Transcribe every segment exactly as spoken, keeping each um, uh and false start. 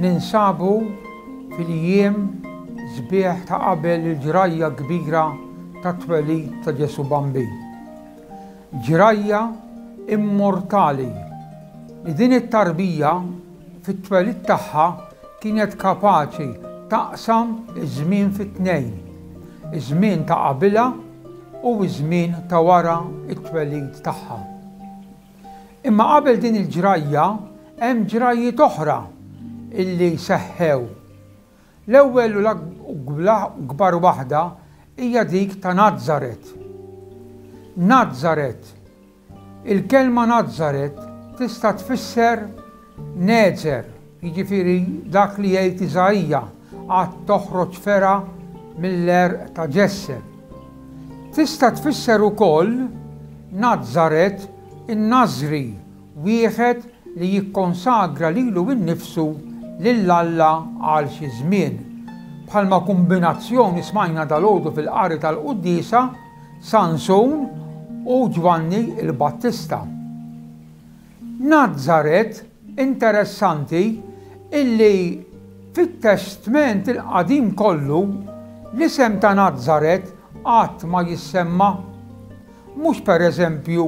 Ninsabu fil-jiem sbieħ ta' qabel il-ġrajja kbira tat-twelid ta' Ġesù Bambin. Ġrajja immortali li din it-tarbija fit-twelid tagħha kienet kapaċi taqsam iż-żmien fit-tnejn, iż-żmien ta' qabilha u ż-żmien ta' wara t-twelid tagħha. Imma qabel din il-ġrajja hemm ġrajjiet oħra illi seħħew. L-ewwel u l-akbar waħda hija dik ta' Nazaret. Nazaret. Il-kelma Nazaret tista' tfisser Nezer, jiġifieri dak li jgħid Iżaija, għad toħroġ fergħa mill-għerq ta' Ġesse. Tista' tfisser ukoll Nazaret in-Nażri, wieħed li jikkonsagra lilu nnifsu lil Alla għal xi żmien. Bħalma kombinazzjoni smajna dalgħodu fil-qari tal-quddiesa Sansun u Ġwanni il-Battista. Nazaret, interessanti, illi fit-Testment il-Qadim kollu l-isem ta' Nazaret qatt ma jissemma. Mhux pereżempju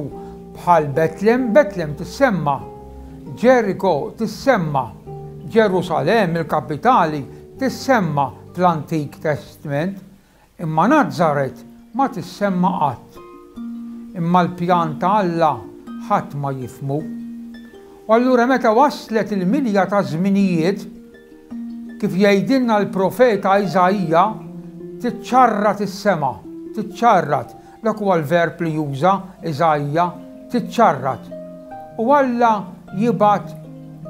bħal Betlem, Betlem tissemma, Ġeriko tissemma, Ġerusalemm il-kapitali tissemma fl-Antik Testment, imma Nazaret ma tissemma qatt. Imma l-pjan ta' Alla ħadd ma jifhmu. U allura meta waslet il-milja ta' żminijiet, kif jgħidilna l-profeta Iżaija, tiċċarrat is-sema, tiċċarrat, dak huwa l-verb li juża Iżaija, tiċċarrat. U Alla jibgħat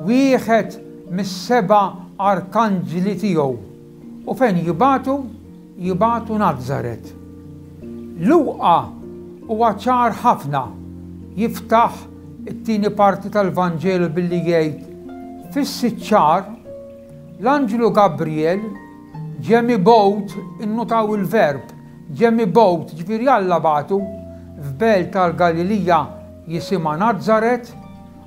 wieħed mis-seba' arkanġli tiegħu. U fejn jibagħtu? Jibagħtu Nazaret. Luqa huwa ċar ħafna, jiftaħ it-tieni parti tal-Vanġelu billi jgħid fis-sitt xahar l-anġlu Gabriel ġie mibgħut, innutaw il-verb, ġie mibgħut, ġifieri Alla bagħtu f'belt tal-Galilija jisimha Nazaret,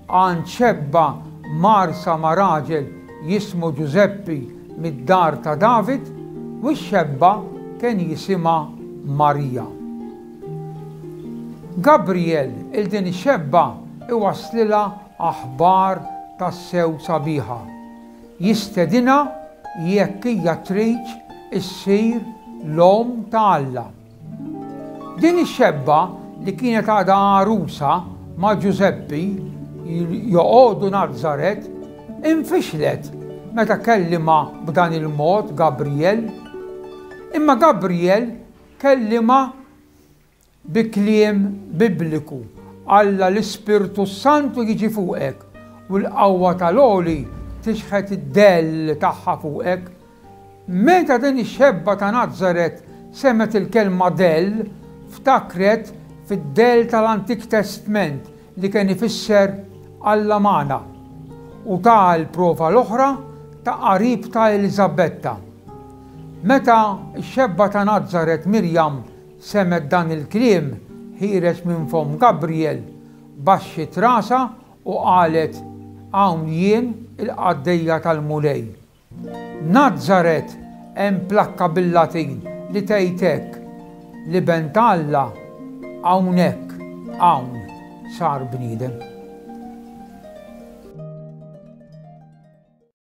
għand xebba mgħarsa ma' raġel jismu Ġużeppi mid-dar ta' David, u x-xebba kien jisimha Marija. Gabriel il din ix-xebba iwasslilha aħbar tassew sabiħa. Jistedinha jekk hija trid issir l-omm ta' Alla. Din ix-xebba li kienet għadha għarusa ma' Ġużeppi joqogħdu Nazaret, infixlet meta kellimha b'dan il-mod Gabriel. Imma Gabriel kellimha bi kliem bibliku. Alla l-Ispirtu Santu jiġi fuqek u l-qawwa tal-Għoli tixħet id-dell tagħha fuqek. Meta din ix-xebba ta' Nazaret semgħet il-kelma dell, ftakret fid-dell tal-Antik Testment li kien ifisser Alla magħna, u ta' l-prova l-oħra ta' qarib ta' Eliżabetta. Meta x-xebba ta' Nazaret Mirjam semgħet dan il-kliem ħiereġ minn fomm Gabriel, baxxiet rasha u qalet, hawn jien il-qaddejja tal-Mulej. Nazaret hemm plakka bil-Latin li tgħid hekk, l-Iben ta' Alla hawnhekk hawn sar bniedem.